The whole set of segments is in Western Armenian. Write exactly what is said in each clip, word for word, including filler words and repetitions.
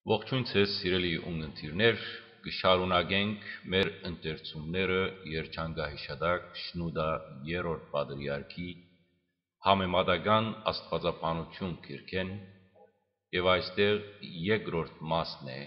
Ողջույն ձեզ, սիրելի ունգընտիրներ, կը շարունակենք մեր ընթերցումները երջանկահիշատակ Շնուդա երրորդ պատրիարքի համեմատական աստվածաբանություն գիրքէն, եւ այստեղ երկրորդ մասն է,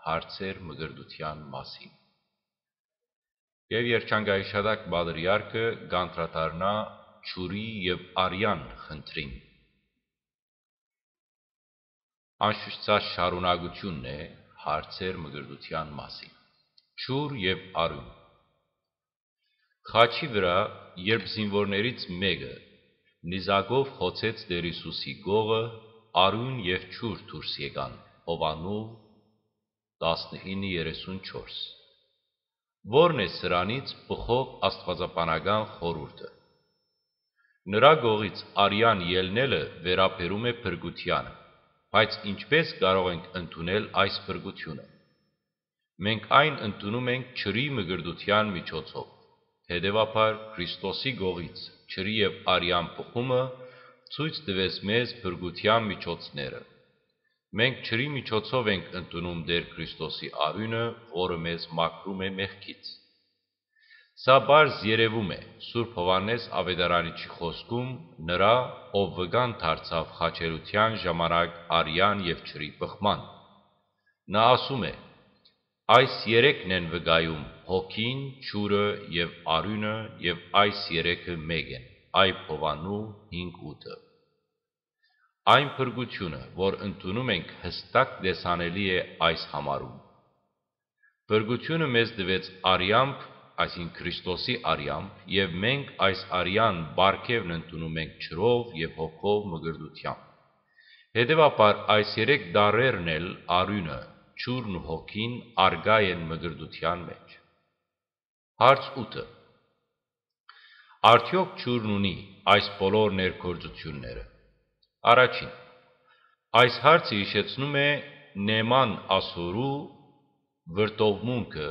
հարցեր մկրտության մասին։ Եւ երջանկահիշատակ պատրիարքը կանդրադառնայ ջուրի եւ արեան խնդրին։ Անշուշտ սա շարունակությունն է հարցեր մկրտության մասին։ Ջուր եւ արիւն։ Խաչի վրայ, երբ զինուորներից մէկը նիզակով խոցեց Տեր Յիսուսի կողը, արիւն եւ ջուր դուրս եկան Յովհաննու տասնինը երեսուն չորս։ Ո՞րն է սրանից բխող աստուածաբանական խորհուրդը։ Նրա կողից արեան ելնելը վերաբերում է փրկությանը, բայց ինչպե՞ս կարող ենք ընդունել այս փրկությունը։ Մենք այն ընդունում ենք ջրի մկրտության միջոցով։ Հետեւաբար, Քրիստոսի կողից ջրի եւ արեան բխումը ցոյց տուեց մեզ փրկության միջոցները։ Մենք ջրի միջոցով ենք ընդունում Տեր Քրիստոսի արիւնը, որը մեզ մաքրում է մեղքից։ Սա պարզ երեւում է Սուրբ Յովհաննէս Աւետարանիչի խօսքում նրա, ով վկան դարձաւ խաչելիության ժամանակ արեան եւ ջրի բխման։ Նա ասում է. «Այս երեքն են վկայում՝ հոգին, ջուրը եւ արիւնը, եւ այս երեքը մէկ են», Այբ Յովհաննու հինգ ութը։ Այն փրկությունը, որ ընդունում ենք, յստակ տեսանելի է այս համարում։ Փրկությունը մեզ տուեց արեամբ, այսինքն՝ Քրիստոսի արեամբ, եւ մենք այս արեան պարգեւն ընդունում ենք ջրով եւ հոգով մկրտությամբ։ Հետեւաբար, այս երեք տարրերն էլ, արիւնը, ջուրն ու հոգին, առկայ են մկրտության մէջ։ Հարց ութը։ Արդեօք ջուրն ունի այս բոլոր ներգործութիւնները։ Առաջին, այս հարցը յիշեցնում է Նեման Ասորու վրդովմունքը,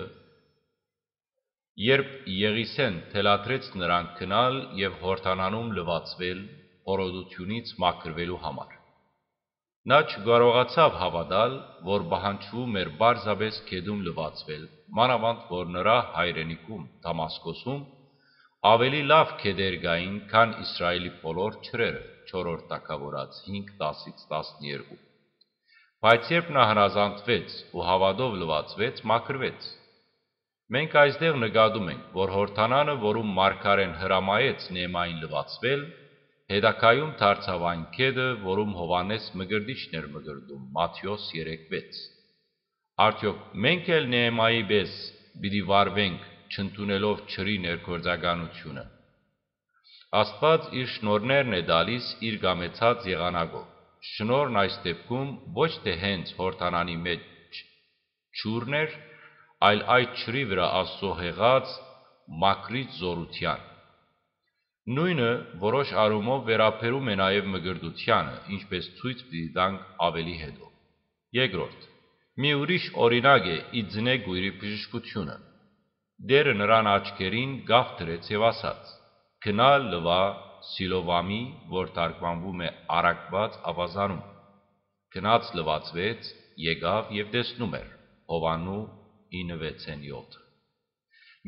երբ Եղիսէն թելադրեց նրան գնալ եւ Յորդանանում լուացուել, հորոտութիւնից մաքրուելու համար։ Նա չկարողացաւ հաւատալ, որ պահանջվում էր պարզապէս գետում լուացուել, մանաւանդ որ նրա հայրենիքում, Դամասկոսում, աւելի լաւ գետեր կային, քան Իսրայէլի բոլոր ջրերը, չորրորդ Թագաւորաց հինգ, տասից տասներկու։ Բայց երբ նա հնազանդվեց ու հաւատով լուացուեց, մաքրուեց։ Մենք այստեղ նկատում ենք, որ Յորդանանը, որուն մարգարէն հրամայեց Նեեմային լուացուել, հետագայում դարձաւ այն գետը, որում Յովհաննէս Մկրտիչն էր մկրտում, Մատթէոս երեք վեց։ Արդեօք մենք էլ Նեեմայի պէս պիտի վարվենք՝ չընդունելով ջրի ներգործականությունը։ Աստուած իր շնորհներն է տալիս իր կամեցած եղանակով։ Շնորհն այս դեպքում ոչ թէ հենց Յորդանանի մէջ ջուրն էր, այլ այդ ջրի վրայ Աստուծոյ յեղած մաքրիչ զօրութեան։ Նոյնը որոշ առումով վերաբերում է նաեւ մկրտությանը, ինչպէս ցոյց պիտի տանք աւելի յետոյ։ Երկրորդ, մի ուրիշ օրինակ է ի ծնե կոյրի բժշկությունը։ Տէրը նրան աչքերին կաւ դրեց եւ ասաց. «Գնա, լուա Սիլովամի», որ թարգմանվում է «առակուած աւազանում»։ Գնաց, լուացուեց, եկաւ եւ տեսնում էր։ Յովհաննու ինը վեցին յոթ։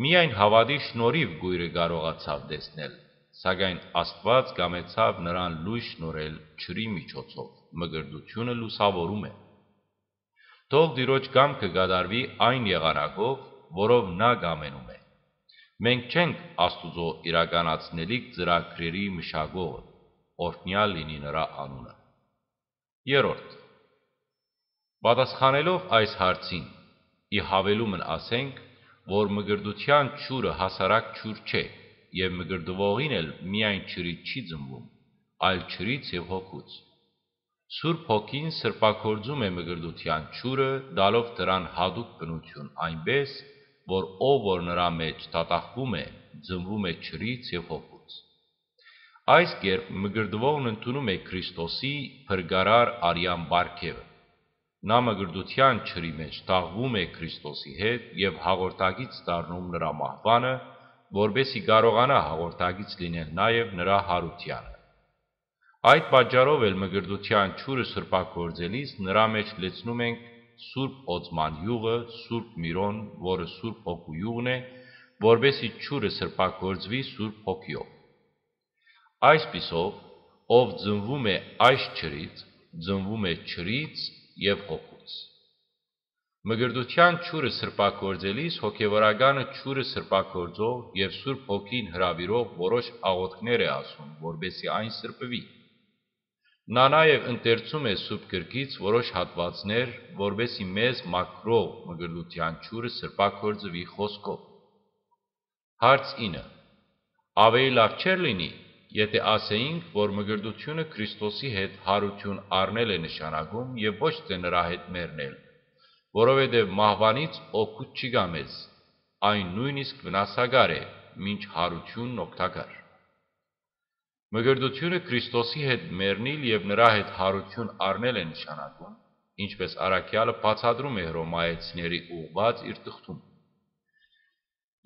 Միայն հաւատի շնորհիւ կոյրը կարողացաւ տեսնել, սակայն Աստուած կամեցաւ նրան լոյս շնորհել ջրի միջոցով, մկրտությունը լուսաւորում է։ Թող Տիրոջ կամքը կատարուի այն եղանակով, որով նա կամենում է։ Մենք չենք Աստուծոյ իրականացնելիք ծրագրերի մշակողը, օրհնեալ լինի նրա անունը։ Երրորդ, պատասխանելով այս հարցին, ի յաւելումն ասենք, որ մկրտության ջուրը հասարակ ջուր չէ, եւ մկրտուողին էլ միայն ջրից չի ծնվում, այլ ջրից եւ հոգուց։ Սուրբ Հոգին սրբագործում է մկրտության ջուրը, տալով դրան յատուկ բնություն, այնպէս որ ով որ նրա մէջ դատախվում է, ծնվում է ջրից եւ հոգուց։ Այս կերպ մկրտուողն ընդունում է Քրիստոսի փրկարար արեան պարգեւը։ Նա մկրտության ջրի մէջ թաղվում է Քրիստոսի հետ եւ հաղորդակից դառնում նրա մահուանը, որպեսզի կարողանայ հաղորդակից լինել նաեւ նրա յարութեանը։ Այդ պատճառով էլ մկրտության ջուրը սրբագործելիս նրա մէջ լեցնում ենք Սուրբ Օծման իւղը, Սուրբ Միրոն, որը Սուրբ Հոգու իւղն է, որպէս զի ջուրը սրբագործուի Սուրբ Հոգիով։ Այսպիսով, ով ծնվում է այս ջրից, ծնվում է ջրից եւ հոգուց։ Մկրտութեան ջուրը սրբագործելիս հոգեվորականը ջուրը սրբագործող եւ Սուրբ Հոգին հրաւիրող որոշ աղօթքներ է ասում, որպէս զի այն սրբուի։ Նա նաեւ ընթերցում է Սուրբ Գրքից որոշ հատուածներ, որպէս զի մեզ մաքրող մկրտութեան ջուրը սրբագործուի խօսքով։ Հարց ինը. Ավելի լաւ չէ՞ր լինի, եթէ ասէինք, որ մկրտութիւնը Քրիստոսի հետ յարութիւն առնել է նշանակում եւ ոչ թէ նրա հետ մեռնել, որովհետեւ մահուանից օգուտ չի գայ մեզ, այն նոյնիսկ վնասակար է, մինչ յարութիւնն օգտակար։ Մկրտութիւնը Քրիստոսի հետ մեռնիլ եւ նրա հետ յարութիւն առնել է նշանակում, ինչպէս առաքեալը բացատրում է Հռոմայեցիների ուղղուած իր թղթում.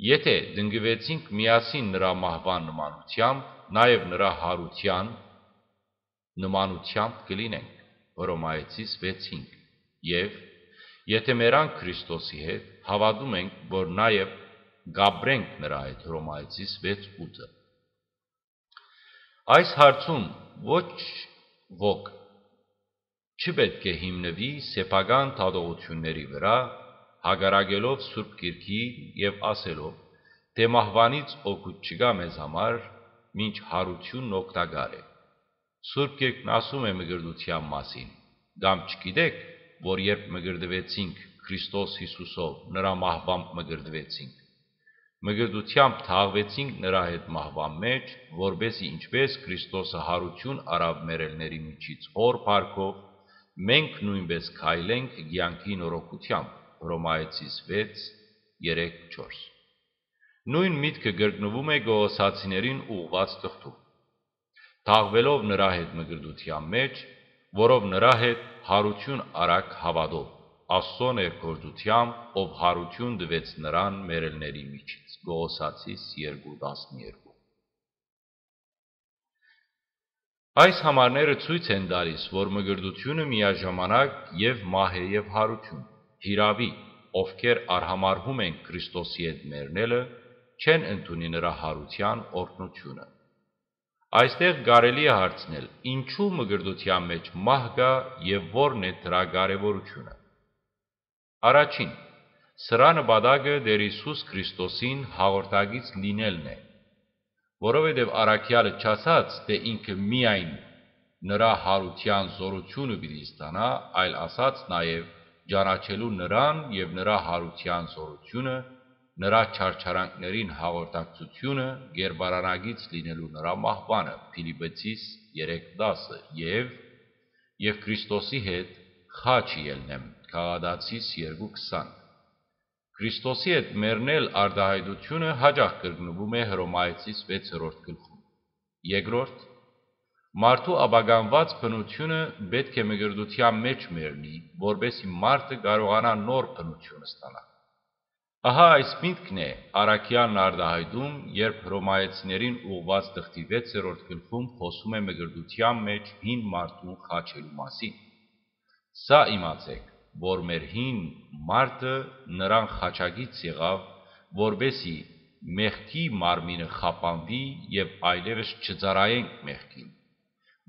«Եթէ տնկուեցինք միասին նրա մահուան նմանութեամբ, նաեւ նրա յարութեան նմանութեամբ կը լինենք», Հռոմայեցիս վեց հինգ, եւ «Եթէ մեռանք Քրիստոսի հետ, հաւատում ենք, որ նաեւ կ'ապրենք նրա հետ», Հռոմայեցիս վեց ութը։ Այս հարցում ոչ ոք չի պէտք է հիմնուի սեփական դատողութիւնների վրայ, հակառակելով Սուրբ Գիրքին եւ ասելով, թէ մահուանից օգուտ չկայ մեզ համար, մինչ յարութիւնն օգտակար է։ Սուրբ Գիրքն ասում է մկրտութեան մասին. «Կամ չգիտեք, որ երբ մկրտուեցինք Քրիստոս Յիսուսով, նրա մահուամբ մկրտուեցինք։ Մկրտութեամբ թաղուեցինք նրա հետ մահուան մէջ, որպէս զի ինչպէս Քրիստոսը յարութիւն առաւ մեռելների միջից Հօր փառքով, մենք նոյնպէս քայլենք կեանքի նորոգութեամբ», Հռոմայեցիս վեց, երեք, չորս։ Նոյն միտքը կրկնուում է Կողոսացիներին ուղղուած թղթում. «Թաղուելով նրա հետ մկրտութեան մէջ, որով նրա հետ յարութիւն առաք հաւատով, Աստուծոյ ներգործութեամբ, ով յարութիւն տուեց նրան մեռելների միջից», Կողոսացիս երկու, տասներկու։ Այս համարները ցոյց են տալիս, որ մկրտութիւնը միաժամանակ եւ մահ է եւ յարութիւն։ Հիրաւի, ովքեր արհամարհում են Քրիստոսի հետ մեռնելը, չեն ընդունի նրա յարութեան օրհնութիւնը։ Այստեղ կարելի է հարցնել, ինչու մկրտութեան մէջ մահ կայ եւ ո՞րն է դրա կարեւորութիւնը։ Առաջին, սրան նպատակը Տէր Յիսուս Քրիստոսին հաղորդակից լինելն է, որովհետեւ առաքեալը չասաց, թէ ինքը միայն նրա յարութեան զօրութիւնը պիտի ստանայ, այլ ասաց նաեւ ճանաչելու նրան եւ նրա յարութեան զօրութիւնը, նրա չարչարանքներին հաղորդակցութիւնը, կերպարանագից լինելու նրա մահուանը, Փիլիպեցիս երեք, տասը, եւ «Եւ Քրիստոսի հետ խաչը ելնեմ», Գաղատացիս երկու, քսան։ Քրիստոսի հետ մեռնել արտահայտութիւնը յաճախ կրկնուում է Հռոմայեցիս վեցերորդ գլխում։ Երկրորդ, մարդու ապականուած բնութիւնը պէտք է մկրտութեան մէջ մեռնի, որպէս զի մարդը կարողանայ նոր բնութիւն ստանալ։ Ահա այս միտքն է առաքեալն արտահայտում, երբ Հռոմայեցիներին ուղղուած թղթի վեցերորդ գլխում խօսում է մկրտութեան մէջ հին մարդուն խաչելու մասին։ Սա իմացէք, որ մեր հին մարդը նրան խաչակից եղաւ, որպէս զի մեղքի մարմինը խափանուի եւ այլեւս չծառայենք մեղքին,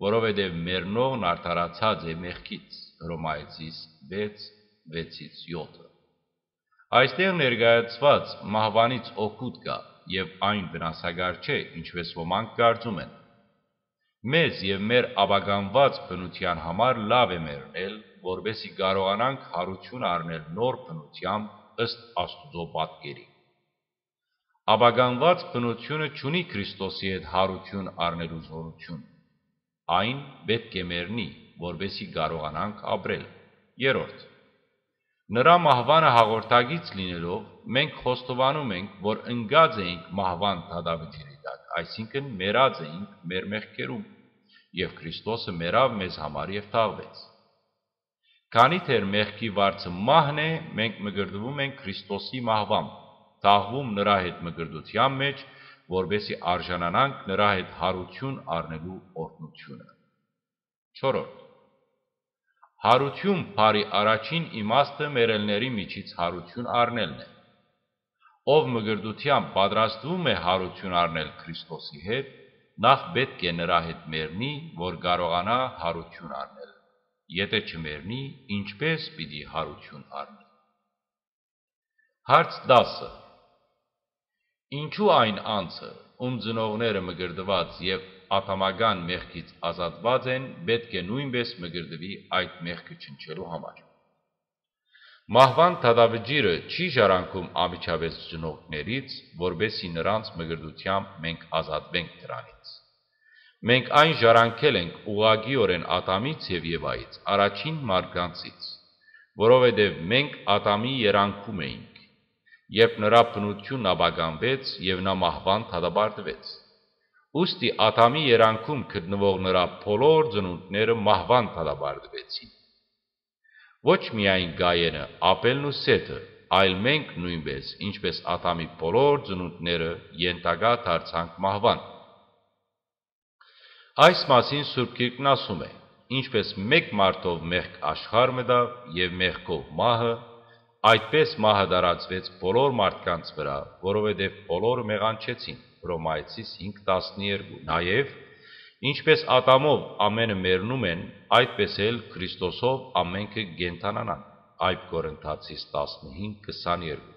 որովհետեւ մեռնողն արդարացած է մեղքից, Հռոմայեցիս վեց, վեցից յոթը։ Այստեղ ներկայացված մահուանից օգուտ կայ եւ այն վնասակար չէ, ինչպէս ոմանք կարծում են։ Մեզ եւ մեր ապականուած բնութեան համար լաւ է մեռնել, որպէս զի կարողանանք յարութիւն առնել նոր բնութեամբ ըստ Աստուծոյ պատկերի։ Ապականուած բնութիւնը չունի Քրիստոսի հետ յարութիւն առնելու զօրութիւն։ Այն պէտք է մեռնի, որպէս զի կարողանանք ապրել։ Երրորդ, նրա մահուանը հաղորդակից լինելով, մենք խոստովանում ենք, որ ընկած էինք մահուան դատաւճիռի տակ, այսինքն՝ մեռած էինք մեր մեղքերուն, եւ Քրիստոսը մեռաւ մեզ համար եւ թաղուեց։ Քանի դեռ մեղքի վարձը մահն է, մենք մկրտուում ենք Քրիստոսի մահուամբ, թաղուում նրա հետ մկրտութեան մէջ, որպէս զի արժանանանք նրա հետ յարութիւն առնելու օրհնութիւնը։ Չորրորդ, Յարութիւն բառի առաջին իմաստը մեռելների միջից յարութիւն առնելն է։ Ով մկրտութեամբ պատրաստուում է յարութիւն առնել Քրիստոսի հետ, նախ պէտք է նրա հետ մեռնի, որ կարողանայ յարութիւն առնել։ Եթէ չմեռնի, ինչպէ՞ս պիտի յարութիւն առնի։ Հարց տասը։ Ինչու այն անձը, ում ծնողները մկրտուած եւ ատամական մեղքից ազատուած են, պէտք է նոյնպէս մկրտուի այդ մեղքը չնչելու համար։ Մահուան դատավճիռը չի ժառանգում անմիջապէս ծնողներիցս, որպէսզի նրանց մկրտութեամբ մենք ազատուենք դրանից։ Մենք այն ժառանգել ենք ուղղակիօրէն Ատամից եւ Եվայից, առաջին մարդկանցից, որովհետեւ մենք Ատամի երանգում էինք, երբ նրա բնութիւնն ապականուեց եւ նա մահուան դատապարտուեց։ Ուստի Ատամի երանգում գտնուող նրա բոլոր ծնունդները մահուան դատապարտուեցին։ Ոչ միայն Կայէնը, Աբէլն ու Սեթը, այլ մենք նոյնպէս, ինչպէս Ատամի բոլոր ծնունդները, ենթակայ դարձանք մահուան։ Այս մասին Սուրբ Գիրքն ասում է. «Ինչպէս մէկ մարդով մեղք աշխարհ մտաւ եւ մեղքով մահը, այդպէս մահը տարածուեց բոլոր մարդկանց վրայ, որովհետեւ բոլորը մեղանչեցին»։ Հռոմայեցիս հինգ տասներկու։ Նաեւ, ինչպէս Ատամով ամէնքը մեռնում են, այդպէս էլ Քրիստոսով ամէնքը կենդանանան։ Այդ Կորինթացիս տասնհինգ քսաներկու։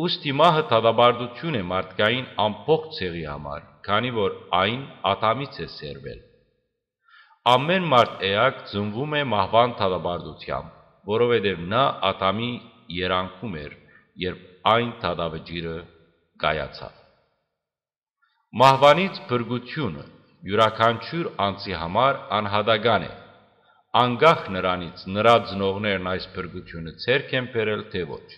Ուստի մահը դատապարտութիւն է մարդկային ամբողջ ցեղի համար, քանի որ այն Ատամից է սերվել։ Ամէն մարդ էակ ծնվում է մահուան դատապարտութեամբ, որովհետեւ նա Ատամի երանգում էր, երբ այն դատավճիռը կայացաւ։ Մահուանից փրկութիւնը իւրաքանչիւր անձի համար անհատական է, անկախ նրանից՝ նրա ծնողներն այս փրկութիւնը ձեռք են բերել, թէ ոչ։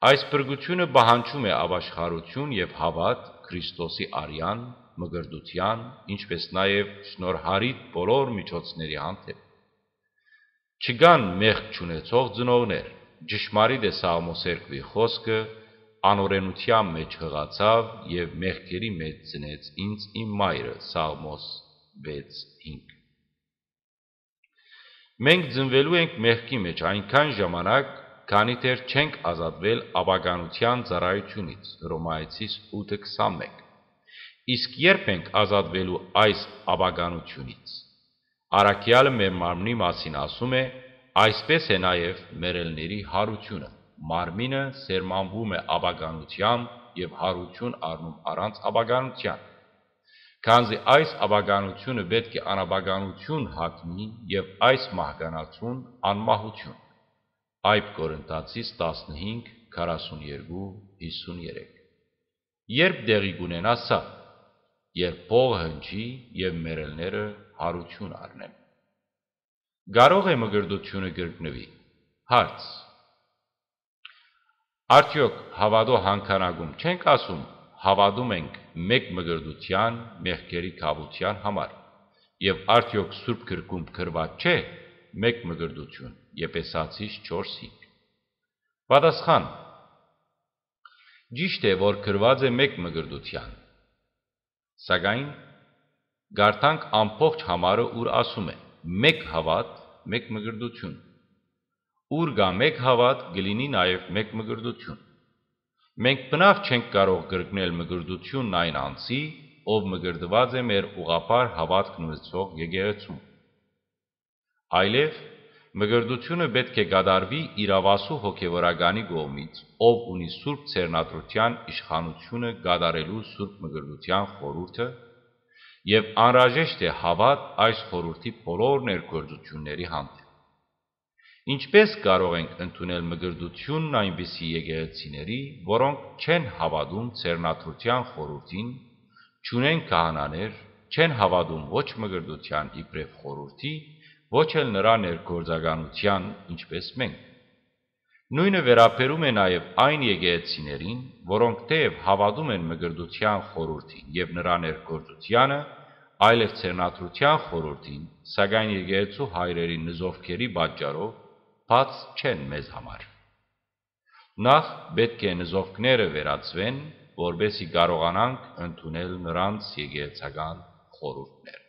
Այս փրկութիւնը պահանջում է ապաշխարութիւն եւ հաւատք Քրիստոսի արեան, մկրտութեան, ինչպէս նաեւ շնորհառիթ բոլոր միջոցների հանդէպ։ Չկան մեղք չունեցող ծնողներ։ Ճշմարիտ է Սաղմոս երկուի խօսքը. «Անօրէնութեան մէջ յղացաւ եւ մեղքերի մէջ ծնեց ինձ իմ մայրը»։ Սաղմոս վեց հինգ։ Մենք ծնուելու ենք մեղքի մէջ այնքան ժամանակ, քանի դեռ չենք ազատուել ապականութեան ծառայութիւնից, Հռոմայեցիս ութը քսանմէկ։ Իսկ երբ ենք ազատուելու այս ապականութիւնից։ Առաքեալը մեր մարմնի մասին ասում է. «Այսպէս է նաեւ մեռելների յարութիւնը»։ Մարմինը սերմանվում է ապականութեամբ եւ յարութիւն առնում առանց ապականութեան, քանզի այս ապականութիւնը պէտք է անապականութիւն հագնի եւ այս մահկանացուն՝ անմահութիւն։ Այդ Կորինթացիս տասնհինգ, քառասուներկու, հիսուներեք։ Երբ տեղի կունենայ սա, երբ փողը հնչի եւ մեռելները յարութիւն առնեն։ Կարո՞ղ է մկրտութիւնը կրկնուի։ Հարց. Արդեօք հաւատոյ հանգանակում չենք ասում. «Հաւատում ենք մէկ մկրտութեան, մեղքերի քաւութեան համար»։ Եւ արդեօք Սուրբ Գրքում գրուած չէ մէկ մկրտութիւն, Եփեսացիս չորս հինգ։ Պատասխան. ճիշդ է, որ գրուած է մէկ մկրտութեան, սակայն կարդանք ամբողջ համարը, ուր ասում է. «Մէկ հաւատ, մէկ մկրտութիւն»։ Ուր կայ մէկ հաւատ, կը լինի նաեւ մէկ մկրտութիւն։ Մենք բնաւ չենք կարող կրկնել մկրտութիւնն այն անձի, ով մկրտուած է մեր ուղղափառ հաւատքն ունեցող եկեղեցում։ Այլեւ մկրտութիւնը պէտք է կատարուի իրաւասու հոգեւորականի կողմից, ով ունի Սուրբ Ձեռնադրութեան իշխանութիւնը կատարելու Սուրբ Մկրտութեան խորհուրդը, եւ անհրաժեշտ է հաւատ այս խորհուրդի բոլոր ներգործութիւնների հանդէպ։ Ինչպէ՞ս կարող ենք ընդունել մկրտութիւնն այնպիսի եկեղեցիների, որոնք չեն հաւատում Ձեռնադրութեան խորհուրդին, չունեն քահանաներ, չեն հաւատում ոչ մկրտութեան իբրեւ խորհուրդի, ոչ էլ նրա ներգործականութեան, ինչպէս մենք։ Նոյնը վերաբերում է նաեւ այն եկեղեցիներին, որոնք թէեւ հաւատում են մկրտութեան խորհուրդին եւ նրա ներգործությանը, այլեւ Ձեռնադրութեան խորհուրդին, սակայն եկեղեցու հայրերի նզովքերի պատճառով բաց չեն մեզ համար։ Նախ պէտք է նզովքները վերածուեն, որպէսզի կարողանանք ընդունել նրանց եկեղեցական խորհուրդները։